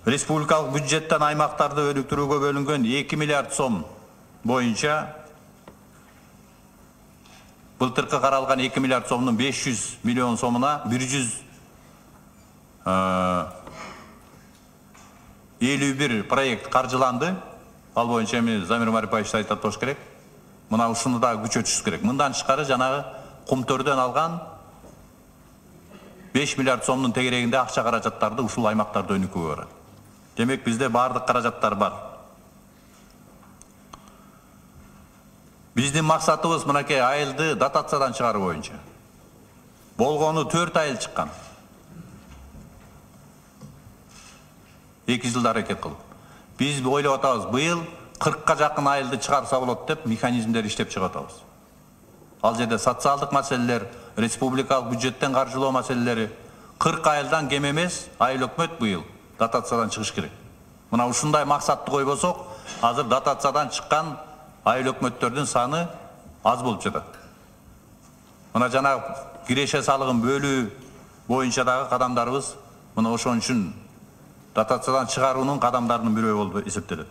республикалык бюджеттен аймактарды өнүктүрүүгө бөлүнгөн 2 миллиард сом боюнча былтыркы каралган 2 миллиард сомдун 500 миллион сомуна 151 проект каржыланды. Ал боюнча эми Замир Марипаевич айтат болуш керек. Мына ушуну да күчөтүш керек. Мындан тышкары жанагы Кумтөрдөн алган 5 миллиард сомдун тегерегинде акча каражаттарды ушул аймактарда өнүкүүгө барат. Демек бизде баардык каражаттар бар. Биздин максатыбыз мынакей айылды дотациядан чыгаруу боюнча. Болгону 4 айыл чыккан. 2 жылда аракет кылып. Биз ойлоп атабыз, быйыл 40ка жакын айылды чыгарса болот деп механизмдер иштеп чыгып атабыз. Ал жерде социалдык маселелер, республикалык бюджеттен каржылоо маселелери 40 айылдан кем эмес айыл өкмөт быйыл дотациядан чыгыш керек. Мына ушундай максатты койбосок, азыр дотациядан чыккан айыл өкмөттөрдүн саны аз болуп жатат. Мына жана киреше салыгын бөлүү боюнча дагы кадамдарыбыз мына ошон үчүн дотациядан чыгаруунун кадамдарынын бирөө болуп эсептелет.